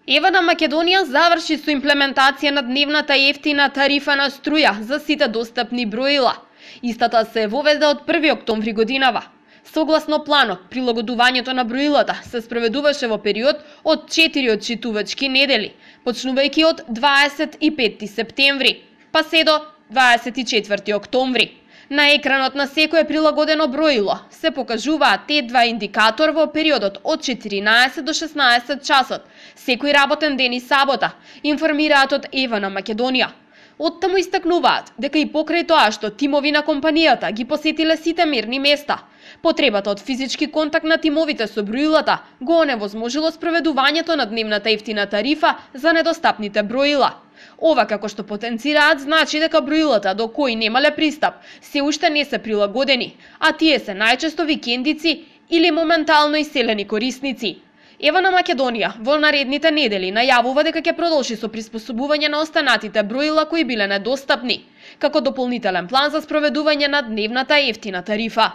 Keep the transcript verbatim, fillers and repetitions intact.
Ева на Македонија заврши со имплементација на дневната ефтина тарифа на струја за сите достапни броила. Истата се воведе од први октомври годинава. Согласно планот, прилагодувањето на броилата се спроведуваше во период од четири отчитувачки недели, почнувајќи од дваесет и петти септември, па се до дваесет и четврти октомври. На екранот на секое прилагодено броило се покажуваат те два индикатор во периодот од четиринаесет до шеснаесет часот, секој работен ден и сабота, информираат од Ева на Македонија. Оттаму истакнуваат дека и покрај тоа што тимови на компанијата ги посетиле сите мерни места, потребата од физички контакт на тимовите со броилата го оневозможило спроведувањето на дневната ефтина тарифа за недостапните броила. Ова, како што потенцираат, значи дека броилата до кои немале пристап се уште не се прилагодени, а тие се најчесто викендици или моментално иселени корисници. Ева на Македонија во наредните недели најавува дека ќе продолжи со приспособување на останатите броила кои биле недостапни, како дополнителен план за спроведување на дневната ефтина тарифа.